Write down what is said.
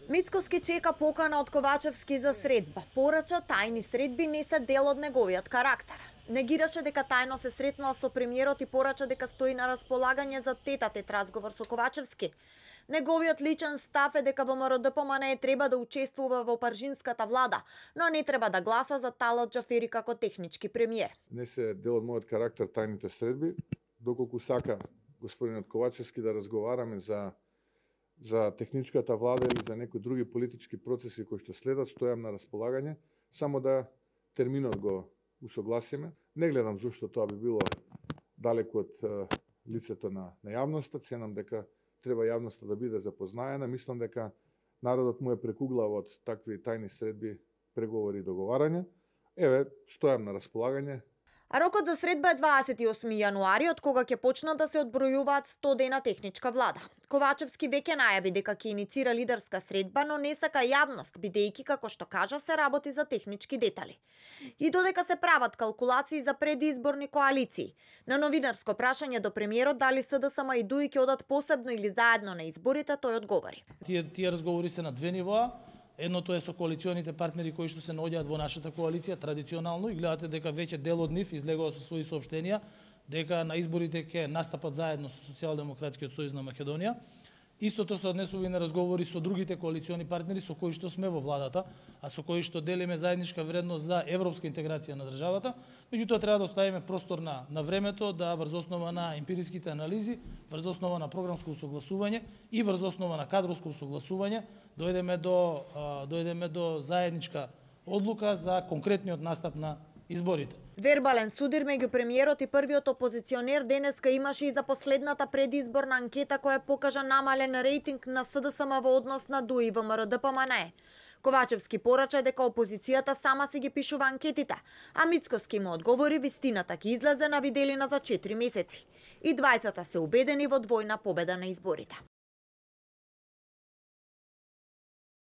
Мицкоски чека покана од Ковачевски за средба. Порача тајни средби не се дел од неговиот карактер. Негираше дека тајно се сретнала со премиерот и порача дека стои на располагање за тет-а-тет разговор со Ковачевски. Неговиот личен став е дека ВМРО ДПМНЕ треба да учествува во паржинската влада, но не треба да гласа за Талат Џафери како технички премиер. Не се дел од мојот карактер тајните средби, доколку сака господинот Ковачевски да разговараме за техничката влада или за некои други политички процеси кои што следат, стојам на располагање, само да терминот го усогласиме. Не гледам зошто тоа би било далеку од лицето на јавноста, ценам дека треба јавноста да биде запознаена. Мислам дека народот му е прекуглав од такви тајни средби, преговори и договарања. Еве, стојам на располагање. А рокот за средба е 28 јануари, од кога ќе почнат да се одбројуваат 100 дена техничка влада. Ковачевски веќе најави дека ќе иницира лидерска средба, но не сака јавност, бидејќи, како што кажа, се работи за технички детали. И додека се прават калкулации за предизборни коалиции. На новинарско прашање до премиерот дали СДСМ и ДУИ ќе одат посебно или заедно на изборите, тој одговори. Тие разговори се на две нивоа. Едното е со коалиционите партнери кои што се наоѓаат во нашата коалиција традиционално и гледате дека веќе дел од нив излегува со своји соопштенија дека на изборите ќе настапат заедно со Социјалдемократскиот сојуз на Македонија. Истото се однесува и на разговори со другите коалициони партнери со кои што сме во владата, а со кои што делиме заедничка вредност за европска интеграција на државата. Меѓутоа треба да оставиме простор на времето да врз основа на емпириските анализи, врз основа на програмско усогласување и врз основа на кадроско усогласување дојдеме до заедничка одлука за конкретниот настап на изборите. Вербален судир меѓу премиерот и првиот опозиционер денеска имаше и за последната предизборна анкета која покажа намален рейтинг на СДСМ во однос на ДУИ и ВМРО ДПМНЕ. Ковачевски порача дека опозицијата сама си ги пишува анкетите, а Мицкоски му одговори вистината ќе излезе на виделина за 4 месеци. И двајцата се убедени во двојна победа на изборите.